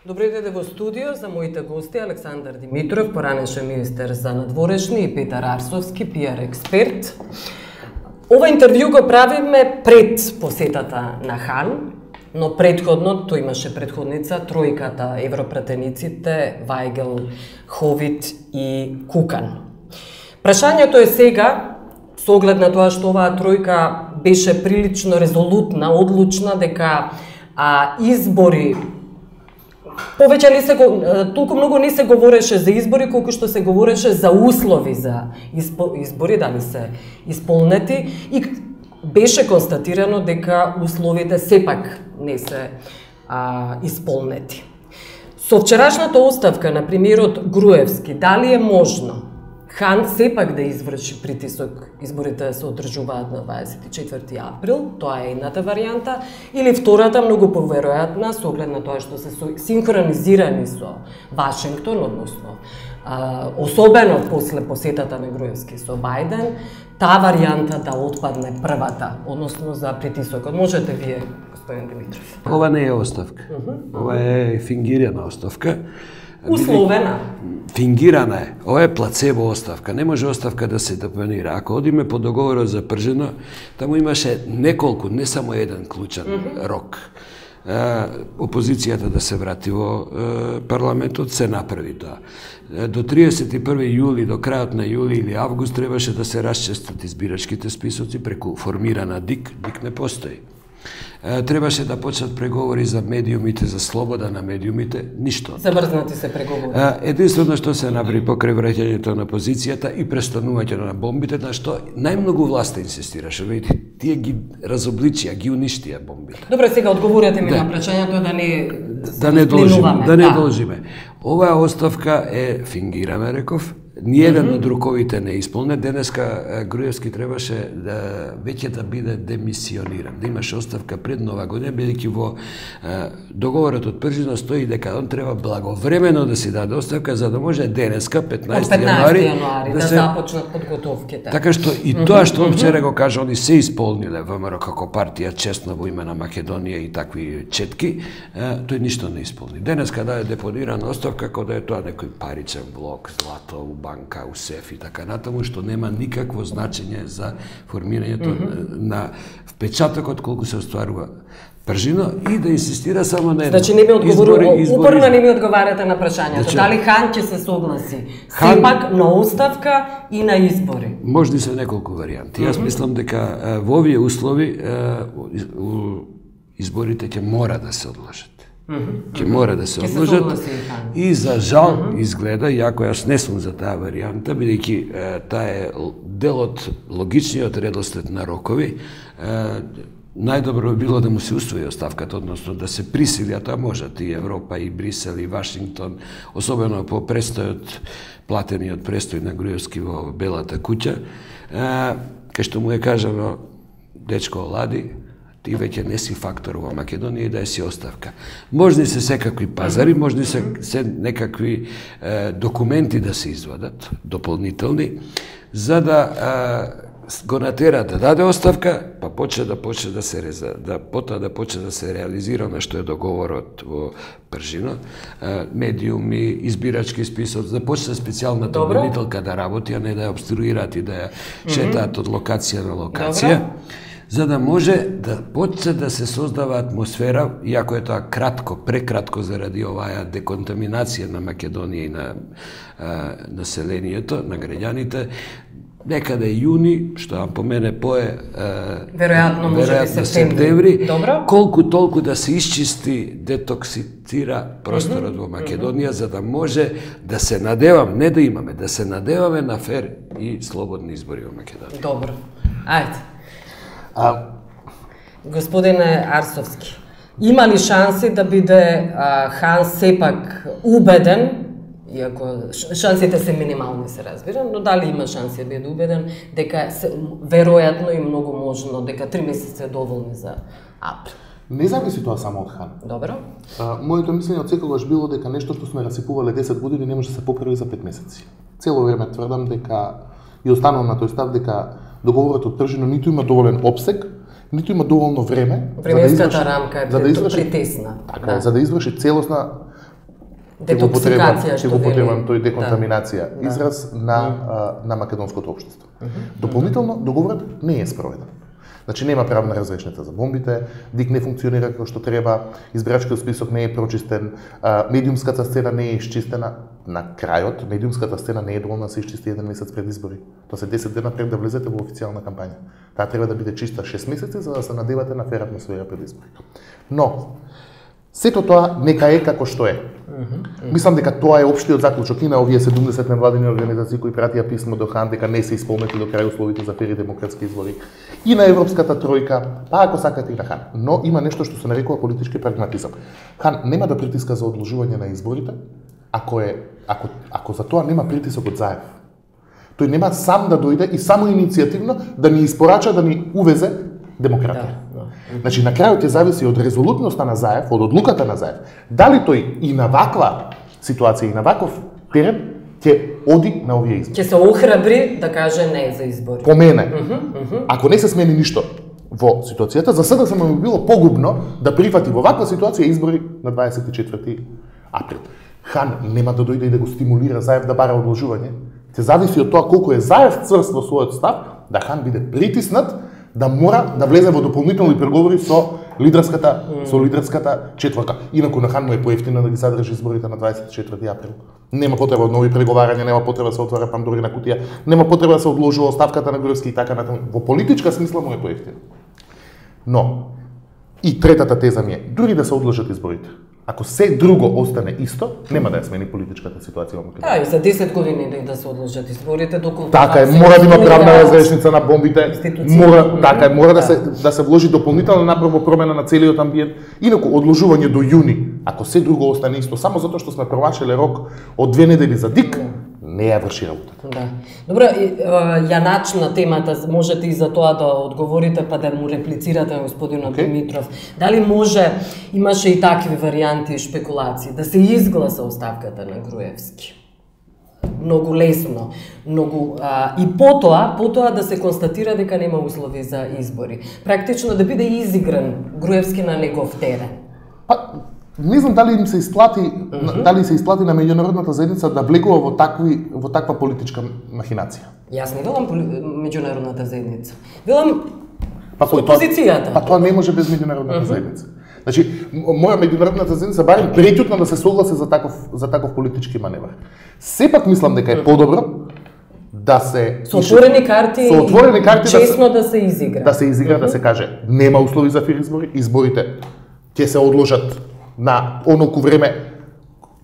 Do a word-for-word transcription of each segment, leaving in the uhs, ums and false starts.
Добро дојде во студио за моите гости Александар Димитров, поранешен министер за надворешни, и Петар Арсовски, пиар експерт. Ова интервју го правиме пред посетата на Хан, но предходно, тој имаше предходница, тројката европратениците Вајгел, Ховит и Кукан. Прашањето е сега, со оглед на тоа што оваа тројка беше прилично резолутна, одлучна дека а, избори повеќе не се толку многу не се говореше за избори колку што се говореше за услови за избори, дали се исполнети, и беше констатирано дека условите сепак не се а, исполнети. Со вчерашната оставка на премиерот Груевски, дали е можно Хан сепак да изврши притисок изборите да се одржуваат на дваесет и четврти април, тоа е едната варијанта, или втората, многу поверојатна, со оглед на тоа што се синхронизирани со Вашингтон, односно а, особено после посетата на Груевски со Бајден, таа варијанта да отпадне првата, односно за притисокот. Можете вие, господин Димитров? Ова не е оставка. Ова е фингирана оставка. Условена. Фингирана е. Ова е плацебо оставка. Не може оставка да се депонира. Ако одиме по договорот за Пржино, таму имаше неколку, не само еден клучен mm -hmm. рок. Опозицијата да се врати во парламентот, се направи тоа. До триесет и први јули, до крајот на јули или август, требаше да се расчистат избирачките списоци преку формирана ДИК. ДИК не постои. Требаше да почнат преговори за медиумите, за слобода на медиумите, ништо. Забрзнати се преговори. Единствено што се направи покрај враќањето на позицијата и престанувањето на бомбите, на што најмногу власта инсистираше. Видите, тие ги разобличија, ги уништија бомбите. Добре, сега одговорете ми да. на прашањето да не да не должиме, да не да. должиме. Оваа оставка е фингирана, реков. Ниеден од руковите не исполне. Денеска Груевски требаше да веќе да биде демисиониран, да имаше оставка пред Нова година, бидејќи во е, договорот од Пржино стои дека он треба благовремено да си даде оставка за да може денеска петнаесети јануари да, да се започнат подготовките. Така што и тоа што вчера го кажа, они се исполниле ВМРО како партија честно во име на Македонија и такви четки, е, тој ништо не исполни. Денеска даде депонирана оставка како да е тоа некој паричен блок, злато, банка, у сеф и така натаму, што нема никакво значење за формирањето mm -hmm. на впечатокот колку се остварува Пржино, и да инсистира само на едно. Значи не ми одговорувате, упорно не ми одговарате на прашањето. Значи, дали Хан ќе се согласи Хан... сепак на оставка и на избори? Можни се неколку варијанти. Mm -hmm. Јас мислам дека во овие услови изборите ќе мора да се одложат. Mm -hmm. Ќе мора да се одложат и за жал mm -hmm. изгледа, иако јас не сум за таа варијанта, бидејќи таа е дел од логичниот редослед на рокови, најдобро би било да му се усвои оставката, односно да се присили, а тоа можат и Европа, и Брисел, и Вашингтон, особено по престојот, платениот престој на Груевски во Белата куќа, кај што му е кажано, дечко олади, ти веќе не си фактор во Македонија и да си оставка. Можни се секакви пазари, можни се, се некакви е, документи да се извадат, дополнителни, за да е, го натера да даде оставка, па почне да почне да се реза, да потоа да почне да се реализира на што е договорот во Пржино, е, медиуми, избирачки список, да почне специјалната обвинителка да работи, а не да ја обструираат и да ја шетаат од локација на локација. Добро. За да може да почне да се создава атмосфера, иако е тоа кратко, прекратко заради оваа деконтаминација на Македонија и на а, населението, на граѓаните, некаде јуни, што по мене пое веројатно може би септември, колку толку да се исчисти, детоксицира просторот mm -hmm. во Македонија, mm -hmm. за да може да се надеваме, не да имаме, да се надеваме на фер и слободни избори во Македонија. Добро. Ајде. А... Господине Арсовски, има ли шанси да биде а, Хан сепак убеден, иако шансите се минимални, се разбира, но дали има шанси да биде убеден дека се, веројатно и многу можно дека три месеца е доволни за април? Не зависи тоа само од Хан. Добро. А, моето мислење од секогаш било дека нешто што сме расипувале десет години не може да се поправи за пет месеци. Цело време тврдам дека и останувам на тој став дека договорот од Пржино ниту има доволен опсег, ниту има доволно време Временската за да изврши, рамка е за да изврши, притесна. Така, да. За да изврши целосна детоксикација, што го потребам тој деконтаминација, да. израз на mm. на македонското општество. Mm -hmm. Дополнително договорот не е спроведен. Значи нема правна разрешница за бомбите, ДИК не функционира како што треба, избирачкиот список не е прочистен, медиумската сцена не е исчистена. На крајот, медиумската сцена не е доволна да се исчисти еден месец пред избори. Тоа се десет дена пред да влезете во официјална кампања. Таа треба да биде чиста шест месеци за да се надевате на фер атмосфера пред избори. Но сето тоа нека е како што е. Mm -hmm. Мислам дека тоа е општиот заклучок и на овие седумдесет невладини организации кои пратија писмо до хан дека не се исполнети до крај условите за фери демократски избори. И на Европската тројка, па ако сакате и на хан. Но има нешто што се нарекува политички прагматизам. Хан нема да притиска за одложување на изборите, ако е ако ако за тоа нема притисок од Заев. Тој нема сам да дојде и само иницијативно да ни испорача да ни увезе демократија. Да, да. Значи, на крајот ќе зависи од резолутноста на Заев, од одлуката на Заев, дали тој и на ваква ситуација и на ваков терен ќе оди на овие избори. Ќе се охрабри да каже не за избори. По мене, uh -huh, uh -huh. ако не се смени ништо во ситуацијата, за сега само ми било погубно да прифати во ваква ситуација избори на дваесет и четврти април. Хан нема да дојде и да го стимулира Заев да бара одложување. Ќе зависи од тоа колку е Заев црст во својот став, да Хан биде притиснат да мора да влезе во дополнителни преговори со лидерската mm. со лидерската четворка. Инаку на Хан му е поевтино да ги задржи изборите на дваесет и четврти април. Нема потреба од нови преговарања, нема потреба да се отвара Пандорина кутија, нема потреба да се одложува оставката на Груевски и така натаму. Во политичка смисла му е поевтино. Но и третата теза ми е, дури да се одложат изборите, ако се друго остане исто, нема да ја смени политичката ситуација во Македонија. Да, и за десет години да се одложат изборите доколку така е, мора да има правна разрешница на бомбите, мора, така е, мора да се да се вложи дополнителна напор во промена на целиот амбиент. Инаку одложување до јуни, ако се друго остане исто, само затоа што сме промашиле рок од две недели за ДИК, не ја врши работата. Да. Добро, ја начна темата, можете и за тоа да одговорите па да му реплицирате на господинот okay. Димитров. Дали може, имаше и такви варианти и шпекулации, да се изгласа оставката на Груевски? Многу лесно, многу а, и потоа, потоа да се констатира дека нема услови за избори. Практично да биде изигран Груевски на негов терен. Па, не знам дали им се исплати, mm -hmm. дали се исплати на меѓународната заедница да влегува во такви во таква политичка махинација. Јас не велам меѓународната заедница. Велам па опозицијата. Па тоа не може без меѓународната mm -hmm. заедница. Значи, моја меѓународната заедница барем претютно да се согласи за таков за таков политички маневр. Сепак мислам дека е подобро да се со отворени карти, со отворени карти честно да се, да се изигра. Да се изигра, mm -hmm. да се каже, нема услови за фер избори, изборите ќе се одложат на оноку време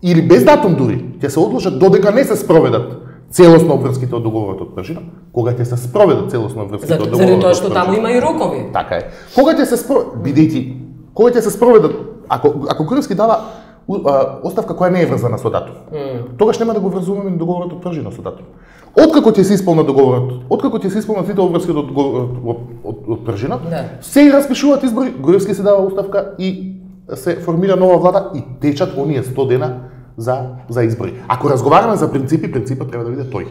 или без датум дури, ќе се одложат додека не се спроведат целосно обврските од договорот од Пржина, кога ќе се спроведат целосно обврските од договорот од Пржина. Заради тоа што таму има и рокови. Така е. Кога ќе се спроведат, бидејќи кога ќе се спроведат, ако ако Груевски дава оставка која не е врзана со датум, mm. тогаш нема да го врзуваме на договорот од Пржина со датум. Откако ќе се исполнат договорот, откако ќе се исполнат сите обврски од договорот од, од Пржина, yeah. се распишуваат избори, Груевски се дава оставка и се формира нова влада и течат оние сто дена за за избори. Ако разговараме за принципи, принципот треба да биде тој.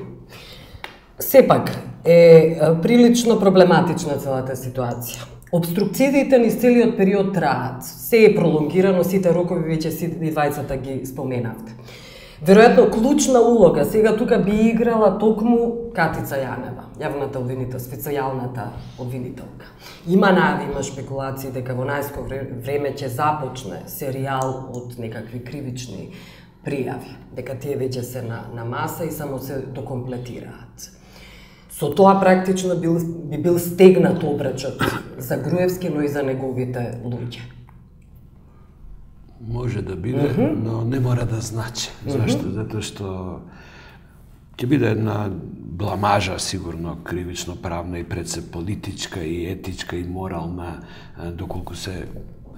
Сепак е прилично проблематична целата ситуација. Обструкциите низ целиот период траат. Се е пролонгирано, сите рокови веќе сите двајцата ги споменавте. Веројатно клучна улога сега тука би играла токму Катица Јанева, јавната обвинител, специјалната обвинителка. Има најави, има шпекулации дека во најскоро време ќе започне серијал од некакви кривични пријави, дека тие веќе се на, на маса и само се докомплетираат. Со тоа практично бил, би бил стегнат обрачот за Груевски, но и за неговите луѓе. Може да биде, mm -hmm. но не мора да значи. Зашто? Mm -hmm. Затоа што ќе биде една бламажа, сигурно, кривично правна и пред се политичка и етичка и морална, доколку се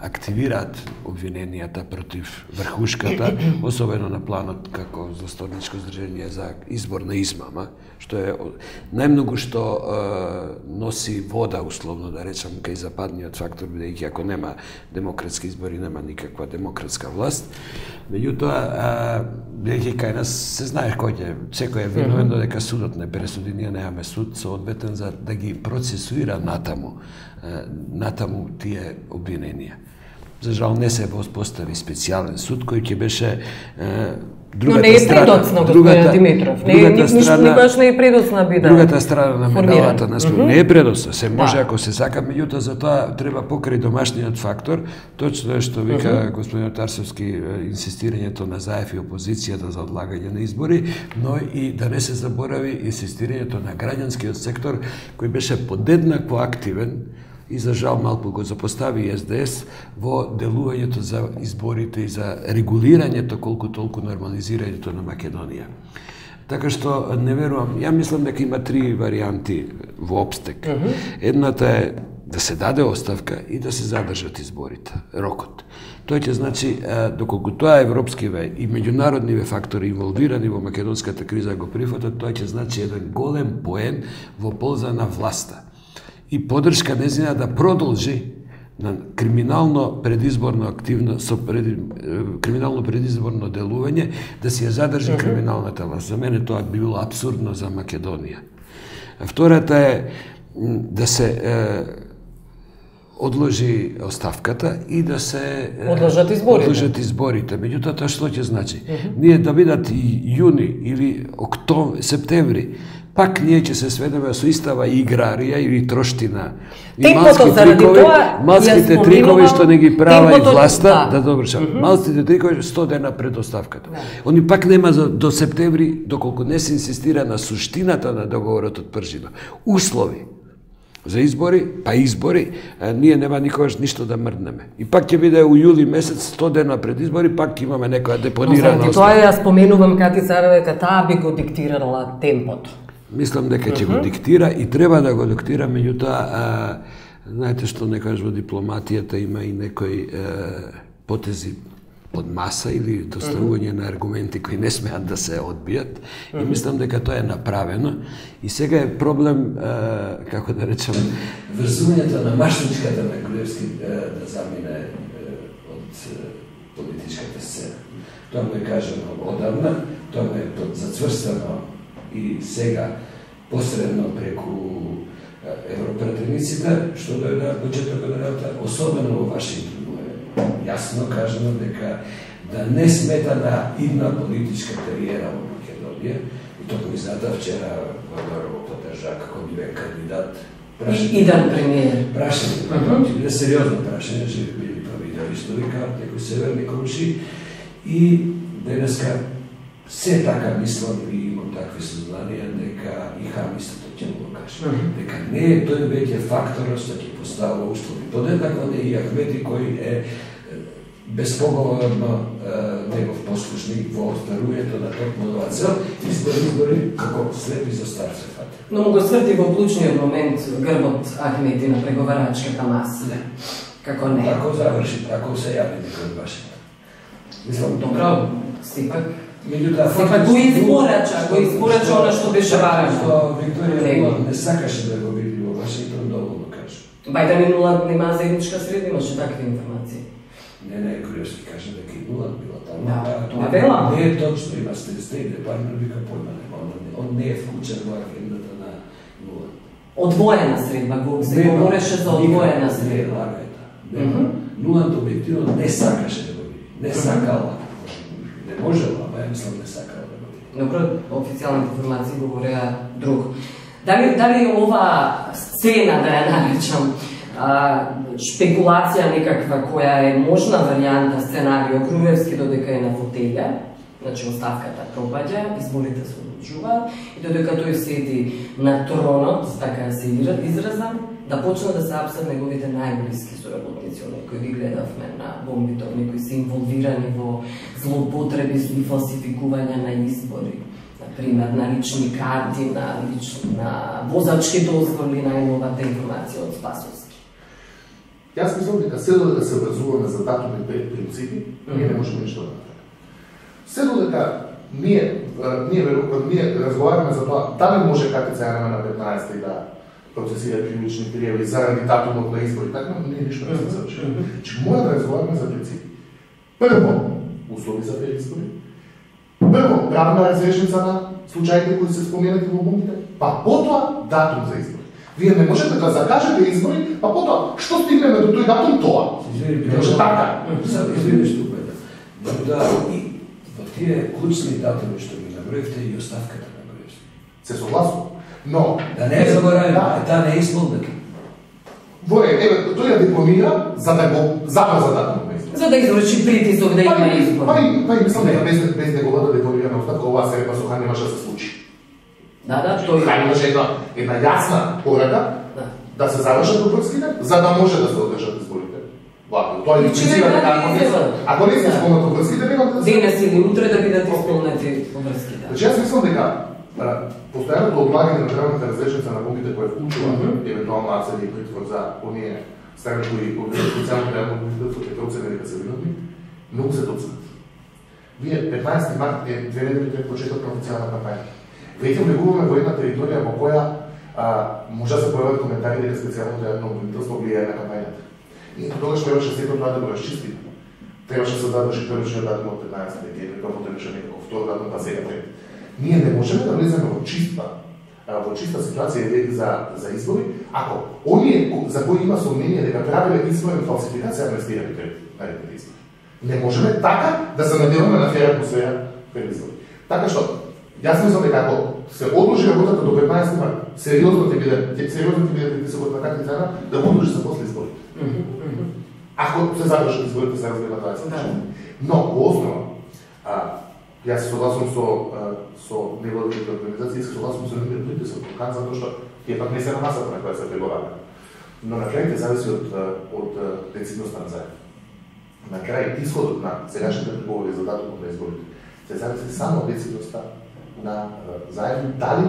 активираат обвиненијата против врхушката, особено на планот како засторничко здржение за избор на измама, што е најмногу што е, носи вода, условно да речам, кај западниот фактор, бидејќи ако нема демократски избори, нема никаква демократска власт. Меѓутоа, бидејќи кај нас се знае кој ќе, секој е виновен, додека судот не пресуди, ние немаме суд соодветен за да ги процесуира натаму, натаму тие обвиненија. За жал не се воспостави специјален суд кој ќе беше другата Но не е предоцна, господин Димитров. Не е никогаш не е предоцна бида. Другата страна на медалата на спор. Не е предоцна, се може ако се сака, меѓутоа за тоа треба покрај домашниот фактор, точно е што вика господин Тарсовски, инсистирањето на Заев и опозицијата за одлагање на избори, но и да не се заборави инсистирањето на граѓанскиот сектор кој беше подеднакво активен и за жал малку го запостави Ес Де Ес во делувањето за изборите и за регулирањето колку толку нормализирањето на Македонија. Така што не верувам, ја мислам дека има три варијанти во обстек. Uh -huh. Едната е да се даде оставка и да се задржат изборите, рокот. Тој ќе значи, доколку тоа европскиве и меѓународниве фактори инволвирани во македонската криза го прифатат, тоа ќе значи еден голем поен во полза на власта и поддршка незина да продолжи на криминално предизборно активно со пред, криминално предизборно делување, да си ја задржи криминалната власт. За мене тоа би било апсурдно за Македонија. Втората е да се е, одложи оставката и да се одложат изборите. Одложат изборите. Меѓутоа тоа што ќе значи? Uh -huh. Ние да бидат и јуни или октомври, септември, пак ние ќе се сведеме со истава играрија или троштина. И малски трикови, малските трикови што не ги права и власта, да, да добршам. Uh -huh. Малските трикови сто дена пред оставката. Да. Они пак нема за, до септември, доколку не се инсистира на суштината на договорот од Пржина. Услови за избори, па избори, а, ние нема никогаш ништо да мрднеме. И пак ќе биде у јули месец, сто дена пред избори, пак ќе имаме некоја депонирана оставка. Тоа ја споменувам Кати Царева, дека таа би го диктирала темпото. Мислам дека ќе uh -huh. го диктира и треба да го диктира, меѓутоа, знаете што некогаш во дипломатијата има и некои а, потези под маса или доставување uh -huh. на аргументи кои не смеат да се одбијат. Uh -huh. И мислам дека тоа е направено. И сега е проблем, а, како да речам, врзувањето на машничката на Груевски да замине од политичката сцена. Тоа му е кажано одавна, тоа му е зацврстано и сега посредно преку европратениците, што дојде од почетокот на работа, особено во Вашингтон, јасно кажано дека да не смета на идна политичка кариера во Македонија. И тоа ми знате вчера го поддржа како биве кандидат. Иден премиер. Прашање, ќе биде сериозно прашање, че били па видели што викаат некои северни комши. И денеска се така мислам и имам такви сознанија дека и Хам истото ќе му го каже. Дека не е тој веќе факторот што ќе поставува услови. Подеднакво не и Ахмети кој е безпоговорно негов послушник во остварувањето на токму цел, избори, избори, како слепи за стар се фати. Но му го сврти во клучниот момент грбот Ахмети на преговарачката маса. Не. Како не? Ако заврши, ако се јави некој од Вашингтон. Мислам, добро, сепак Сепак го изборача, го изборача она што беше важно. Што Викторија не сакаше да го види во Вашингтон, доволно кажа. Бајден и Нуланд нема заедничка среда, имаше такви информации. Не, не, Груевски кажа дека и Нуланд била таму. Да, тоа вела. Не е точно, има Стейт департмент, вика појма нема. Он не е вклучен во агендата на Нуланд. Одвоена средба, се говореше за одвоена средба. Не, Нуланд објективно не сакаше да го види. Не сакала. Не можела, ба ја мислам не сакала да го види. Добро, официјалните информации говореа друго. Дали, дали ова сцена, да ја наречам, шпекулација некаква која е можна варијанта, сценарио, Груевски додека е на фотелја, значи оставката пропаѓа, изборите се одлучуваат и додека тој седи на тронот, така да се изразам, да почна да се апсат неговите најблиски соработници, оние кои ги гледавме на бомбите, оние кои се инволвирани во злоупотреби и фалсификување на избори. Например, на лични карти, на, лич... на возачки дозволи, најновата информација од Спасовски. Јас мислам дека се додека се образуваме за датуми пред принципи, ние не можеме ништо да направиме. Се додека ние, ние, ние разговараме за тоа, дали може Кати Царева на петнаесетта и да процесира кривични пријави заради датумот на избори, така ние ништо не се заврши. Че мора да разговараме за принципи. Прво, услови за тези избори. Прво, правна разрешница на случаите кои се споменати во бомбите, па потоа датум за избори. Вие не можете да закажете избори, а потоа што стигнеме до тој датум тоа? Извини, може така. Само извини што беда. Да, и во тие клучни датуми што ги наброивте и оставката наброивте. Се согласувам. Но да не забораваме, да, таа не е исполнета. Во е, еве, тој ја дипломира за да го забрза датумот на избор. За да изврши притисок да има избор. Па и па и мислам дека без без неговата дипломирана оставка оваа серба со Хан немаше да се случи. Да, да, тој Хан имаше една една јасна порака да, да се завршат обврските, за да може да се одржат изборите. Вако, тоа е причина дека ако не ако не се исполнат обврските, нема да се денес или утре да бидат исполнети обврските. Значи јас мислам дека постојаното одлагање на правната разрешница на бомбите која вклучува евентуално насилие и притвор за оние страни кои организираат специјално реално бомбите со петроцени дека се виновни, многу се доцнат. Вие петнаесети март е две недели пред почетокот на официјална кампања. Веќе влегуваме во една територија во која а, може да се појават коментари дека специјалното јавно обвинителство влијае на кампањата. И тогаш требаше сето тоа да го расчисти. Требаше да се задржи првичниот датум од петнаесети декември, тоа потrebаше некако втор датум па сега пред. Ние не можеме да влеземе во чиста во чиста ситуација за за избори, ако оние за кои има сомнение дека правиле изборна фалсификација амнестирани пред наредните избори. Не можеме така да се наделаме на фера атмосфера пред избори. Така што јас мислам дека ако се одложи работата до петнаесети март, сериозно ќе биде сериозно ќе биде притисокот на какви цена да го одложи за после изборите. Ако се задржат изборите се разбира тоа е. Но во основа а, јас се согласувам со со невладините организации, се согласувам со нивниот притисок, затоа што тие пак не се на масата на која се преговара. Но на крај зависи од од децидноста на заедно. На крај исходот на сегашните преговори за датумот на изборите се зависи само од децидноста на заедно, дали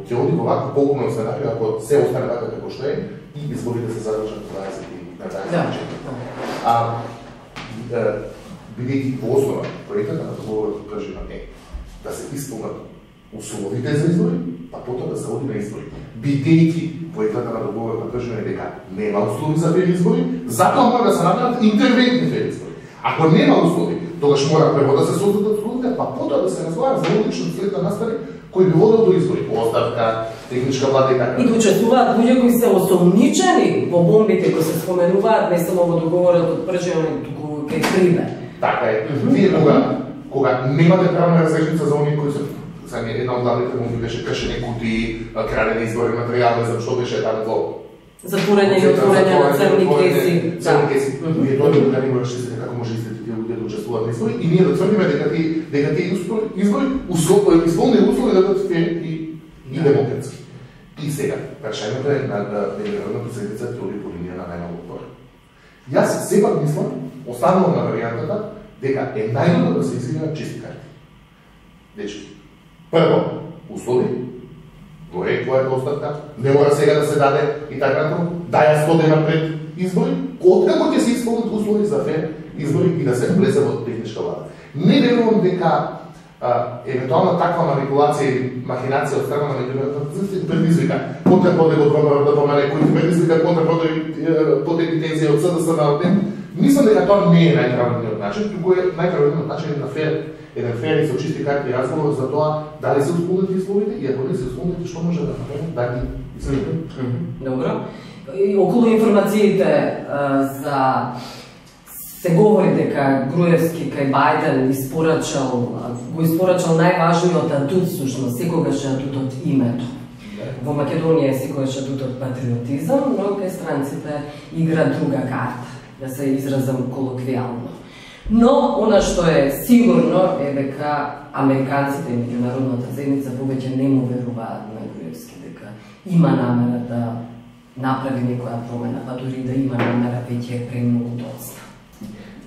ќе оди во вакво погубно сценарио ако се остане така како што е и изборите се задржат на дваесет на дваесет. А бидејќи во основа проектот на договорот кажува е да се исполнат условите за избори, па потоа да се оди на избори. Бидејќи проектот на договорот кажува дека нема услови за фер избори, затоа мора да се направат интервентни фер избори. Ако нема услови, тогаш мора прво да се создадат условите, па потоа да се разговара за логичен след да настани кој би водел до избори, оставка, техничка влада и така. И да учествуваат луѓе кои се осомничени во бомбите кои се споменуваат не само во договорот од прживање, туку кај Крибе. Така е. Вие кога кога немате правна разрешница за оние кои се за една од главните бомби беше кршење кутии, крадење изборни материјали, за што беше таму во затворање и отворање на црни кеси. Црни кеси. Вие тоа да не го расчистите како може истите тие луѓе да учествуваат на избори и ние да тврдиме дека тие дека тие избори услови исполнени услови да бидат фер и и демократски. И сега, прашањето е на меѓународната заедница ќе оди по линија на најмалку отпор. Јас сепак мислам, останувам на варијантата дека е најдобро да се изиграат чисти карти. Дечки, прво, услови, го е која е оставка, не мора сега да се даде и така натаму, да ја сто дена пред избори, откако ќе се исполнат услови за фер избори и да се влезе во техничка влада. Не верувам дека а, евентуална таква манипулација или махинација од страна на меѓународната заедница предизвика контрпродуктот од ВМРО да помале, кој предизвика контрпродуктот тензија од СДС на ОДН. Мислам дека тоа не е најправилниот начин, туку е најправилниот начин на фер, еден фер и со чисти карти разговор за тоа дали се исполнети условите и ако не се исполнети што може да направиме да ги исполнеме. Добро. И околу информациите за се говори дека Груевски кај Бајден испорачал, го испорачал најважниот адут, всушност, секогаш е адутот името. Во Македонија е секогаш адутот патриотизам, но кај странците игра друга карта, да се изразам колоквијално. Но, она што е сигурно е дека американците и меѓународната заедница повеќе не му веруваат на Груевски, дека има намера да направи некоја промена, па дури да има намера веќе е премногу доцна.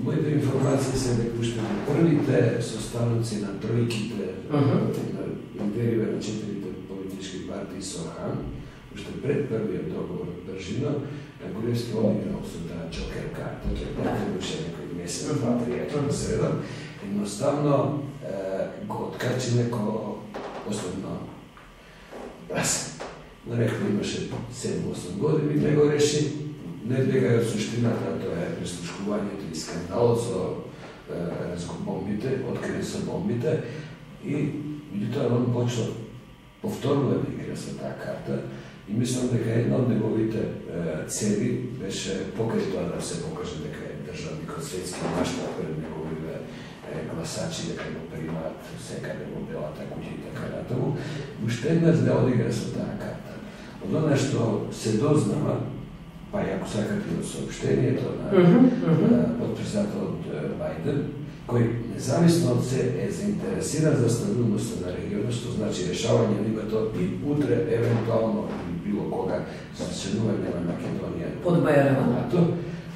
Моите информации се дека уште првите составници на тројките на империја на четирите политички партии со Хан, уште пред првиот договор од Пржина, Груевски одиграл со таа џокер карта, тоа беше некој месец, два, три, на средам, едноставно го откачи неко основно раз. Нарекли имаше седум-осум години, не го реши, не дека е суштината, тоа е прислушкувањето и скандалот со бомбите, открие со бомбите и меѓутоа он почна повторно да игра со таа карта И мислам дека една од неговите цели беше покрај тоа да се покаже дека е државник од светски маштаб пред неговите гласачи, дека го примаат секаде во Белата куќа и така натаму, уште еднаш да одигра со таа карта. Од она што се дознава, па и ако сакате од сообщението на подписателот Бајден, кој независно од се е заинтересиран за стабилноста на регионот, што значи решавање на името и утре, евентуално, или било кога, за членување на Македонија. Под Бајрема.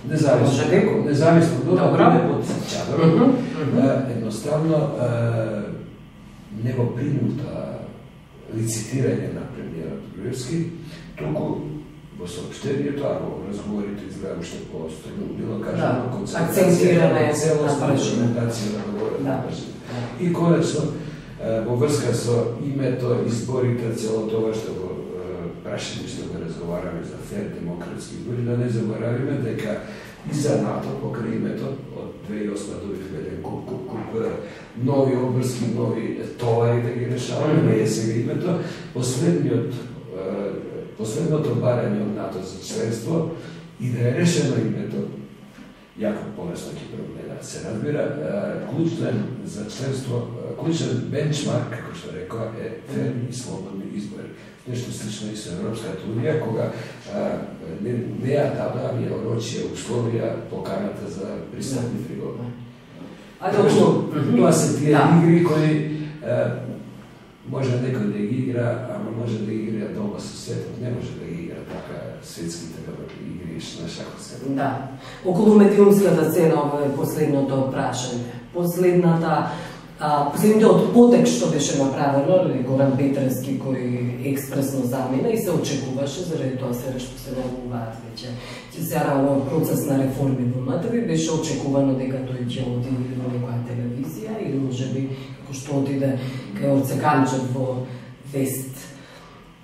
Независно, независно до да под чадорот, едноставно не го принута лицитирање на премиерот Груевски, туку во сообщението, а во разговорите изгледа уште по-остро, било кажано концентрација на целост имплементација на договорот на прашање. И конечно, во врска со името, изборите, цело тоа што го прашање што го разговараме за фер демократски избори, да не заборавиме дека и за НАТО покрај името од две илјади и осма добивме еден куп, куп, куп нови обврски, нови товари да ги решаваме, не е сега името. Последниот Последното барање од НАТО за членство и да е решено името, јако полесно ќе променат, се разбира, клучен за членство, клучен бенчмарк, како што рекоа, е ферни и слободни избори. Нешто слично и со Европската унија, кога не, не ја дадаа ја орочија условија поканата за пристапни преговори. Така што тоа се тие игри кои може некој да ги игра, ама може да ги игра дома со светот, не може да ги игра така светските игри на шахот. Да. Околу медиумската сцена, ова е последното прашање. Последната, а, последниот потек што беше направено, Горан Петревски кој експресно замина и се очекуваше, заради тоа се што се најавуваат веќе. Ќе се рано процес на реформи во МТВ, беше очекувано дека тој ќе оди во некоја телевизија или можеби како што отиде кај Орце Камчев во Вест.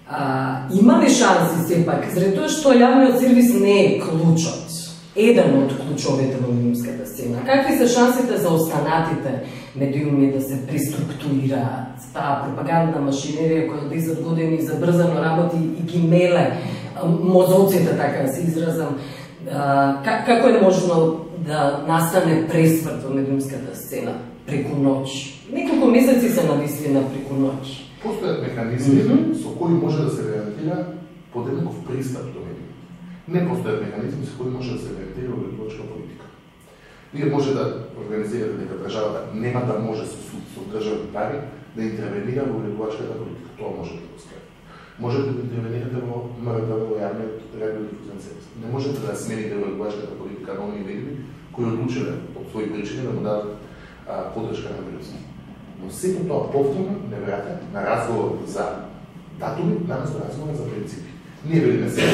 А, има ли шанси сепак, заради тоа што јавниот сервис не е клучот, еден од клучовите во медиумската сцена? Какви се шансите за останатите медиуми да се преструктурираат? Таа пропагандна машинерија која десет години забрзано работи и ги меле мозоците, така да се изразам, а, како е можно да настане пресврт во медиумската сцена преку ноќ? Неколку месеци се нависли на преку ноќ. Постојат механизми mm -hmm. со кои може да се гарантира подеднаков пристап до медиумите. Не постојат механизми со кои може да се гарантира уредувачка политика. Вие може да организирате дека државата нема да може со, со државни пари да интервенира во уредувачката политика. Тоа може да го скаже. Можете да интервенирате во МРТВ, во јавниот радиодифузен сервис. Не можете да смените уредувачката политика на оние медиуми кои одлучиле од своји причини да му дадат поддршка на Груевски. Но сето тоа повторно не враќа на разговор за датуми, наместо разговор за принципи. Ние велиме сега.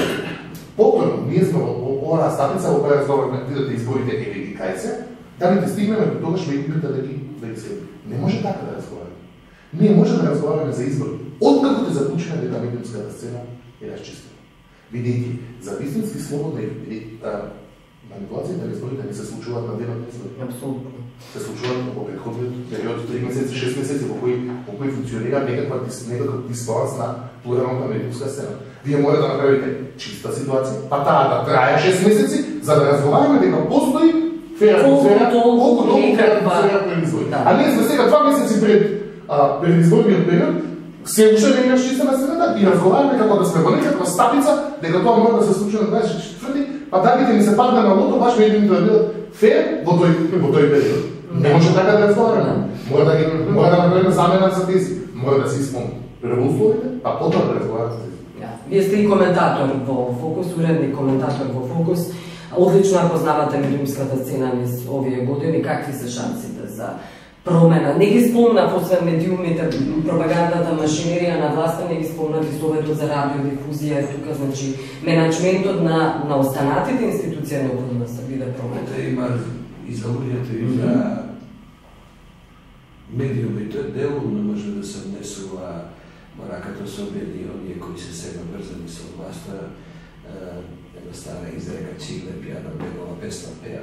Повторно, ние сме во оваа стапица во која разговараме видите изборите еви ги кај се, да не стигнеме до тогаш медиумите да ги да ги се. Не може така да разговараме. Ние можеме да разговараме за избори. Откако те заклучиме дека медиумската сцена е расчистена. Видејќи, за вистински слободни манипулациите на изборите не се случуваат на денот на избори. Апсолутно. Се случуваат во претходниот период, три месеци, шест месеци, во кои, во кои функционира некаква некаков дисбаланс на плуралната медиумска сцена. Вие мора да направите чиста ситуација, па таа да трае шест месеци, за да разговараме дека постои фера атмосфера, колку толку фера атмосфера пред избори. А ние сме сега два месеци пред пред изборниот период, се уште не имаш чиста на сцената и разговараме како да сме во некаква стапица, дека тоа мора да се случи на дваесет и четврти, па дагите ни се падне на лото, баш медиумите да бидат фер во тој во тој период. Не може така да разговараме. Мора да ги мора да направиме замена за тези. Мора да се исполни прво условите, па потоа да разговараме за тези. Вие сте и коментатор во Фокус, уредник коментатор во Фокус. Одлично ја познавате медиумската сцена низ овие години. Какви се шансите за промена? Не ги спомнав, освен медиумите, пропагандата, машинерија на власта, не ги спомнав и Советот за радиодифузија, тука, значи, менеджментот на, на останатите институции необходимо да се биде промена. Има и за луѓето и за медиумите делумно може да се внесува мораката со обедни оние кои се сега брзани со власта, една стара изрека Чигле пијана бегова песна пеа.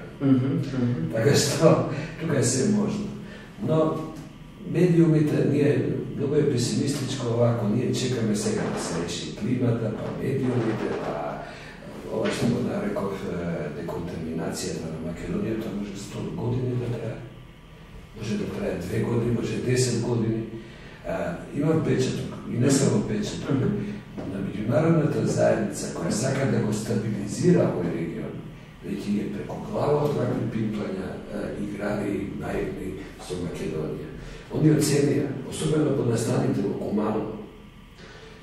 Така што тука е се можно. Но медиумите ние многу е песимистичко овако, ние чекаме сега да се реши климата, па медиумите, па ова што го нареков деконтаминацијата на Македонија, тоа може сто години да трае. Може да трае две години, може десет години. А, има печаток, и не само печаток, на меѓународната заедница која сака да го стабилизира овој регион, веќе е преку глава од вакви пимплања играри наивни со Македонија. Они оценија, особено под настаните во Куманово,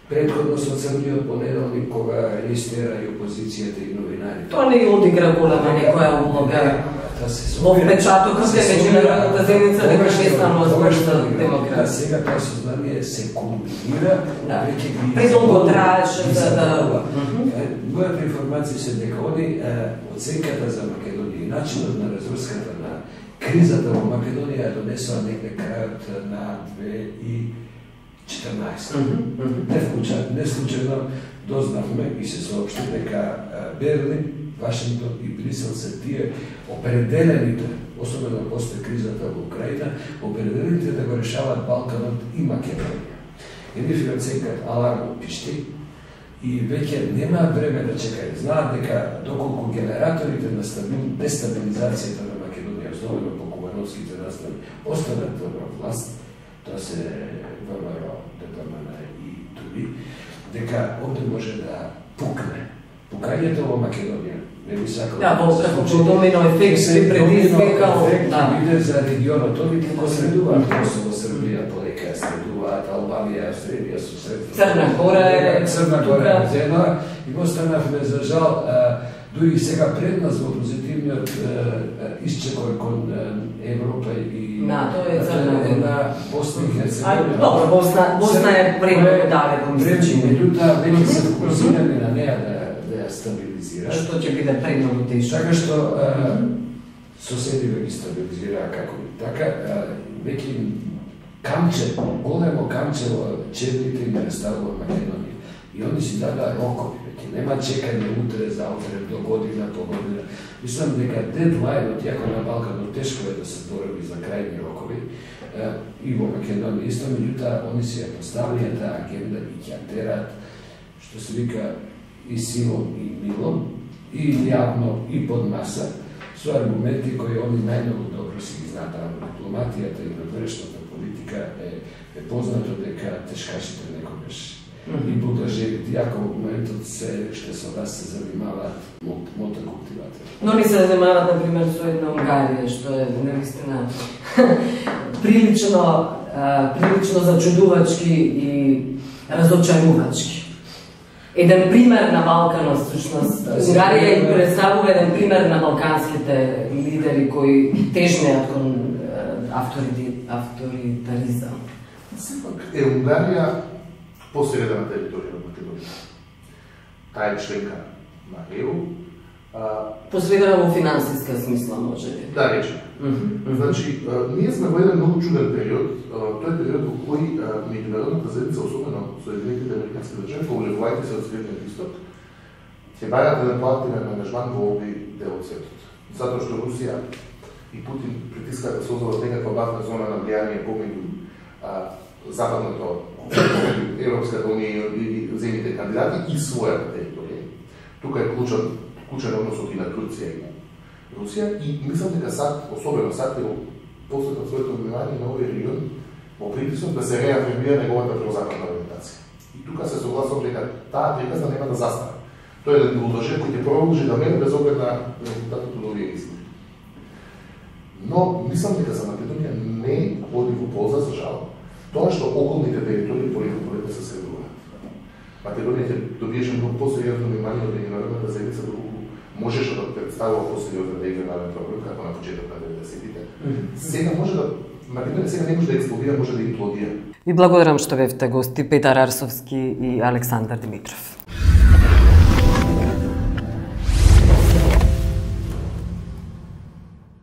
предходно со самиот понеделник кога регистера и опозицијата и новинарите. Тоа не одигра голема некоја улога. Во печатокот е меѓународната заедница дека не станува зборна демокрација. Сега тоа сознание се комбинира, веќе ги предолго траеше за да... Мојата информација се дека они оценката за Македонија и начинот на разруската на кризата во Македонија ја донесува некаде крајот на две и четрнаесетта. Не случајно, не случајно дознавме и се соопшти дека Берлин, Вашингтон и Брисел се тие определените, особено после кризата во Украина, определените да го решават Балканот и Македонија. И нив оценкат аларм пишти и веќе нема време да чекаат. Знаат дека доколку генераторите на дестабилизацијата на Македонија, особено по кумановските настани, останат во власт, тоа се ВМРО, ДПМН и други, дека овде може да пукне. Пукањето во Македонија не би сакал. Да, во како домино ефект се предизвикал, да, биде за регионот, они го средуваат Косово, Србија, полека средуваат Албанија, Австрија, сусед. Црна Гора, Црна Гора зема и го станавме за жал, дури сега пред нас во позитивниот исчекор кон Европа и НАТО е Црна Гора. Босна и Херцеговина. Добро, Босна, Босна е премногу далеко, мислам. Меѓутоа, веќе се фокусирани на неа да да ја стабилизира. Што ќе биде премногу тешко. Така што соседиве ги стабилизираа како и така, веќе камче, големо камче во чевлите им представува Македонија. И они си дадаа рокови, веќе нема чекање утре, заутре, до година, по година. Мислам дека дедлајнот, јако на Балканот тешко е да се борови за крајни рокови, и во Македонија исто, меѓутоа, они си ја поставија таа агенда и ќе тераат, што се вика, и силом и милом, и јавно, и под маса, со аргументи кои они најмногу добро си ги знаат. Дипломатијата и надворешната политика е, е познато дека тешкашите некогаш и будажевите, јако во моментот се што со вас се занимаваат мотокултиватори. Но ни се занимаваат, например, со една Унгарија, што е навистина прилично, прилично зачудувачки и разочарувачки. Еден пример на Балканот, всушност, Унгарија им представува еден пример на балканските лидери кои тежнеат кон авторитаризам. Сепак е Унгарија посредна територија на Македонија. Таа е членка на Е У. Посредна во финансиска смисла, може ли? Да, речем. Значи, ние сме во еден многу чуден период. Тој период во кој меѓународната заедница, особено Соединетите американски држави, повлевувајќи се од Средниот Исток, ќе бараат еден поактивен ангажман во овој дел од светот. Затоа што Русија и Путин притискаат да создадат некаква бафна зона на влијание помеѓу западното, Европската унија и земјите кандидати и својата територија. Тука е клучен, клучен односот и на Турција и на Русија и мислам дека САД, особено САД, е посветил своето внимание на овој регион во притисок да се реафирмира неговата прозападна ориентација. И тука се согласувам дека таа приказна нема да застане. Тој е еден булдожер кој ќе продолжи да мене без оглед на резултатот од овие избори. Но мислам дека за Македонија не оди во полза, за жал, тоа што околните територии полека полека се средуваат. Македонија ќе добиеше многу посериозно внимание од меѓународната заедница, доколку можеше да представува посериозен регионален проблем како на почеток на деветдесетите. Сега може да Македонија сега не може да експлодира, може да имплодира. Ви благодарам што бевте гости Петар Арсовски и Александар Димитров.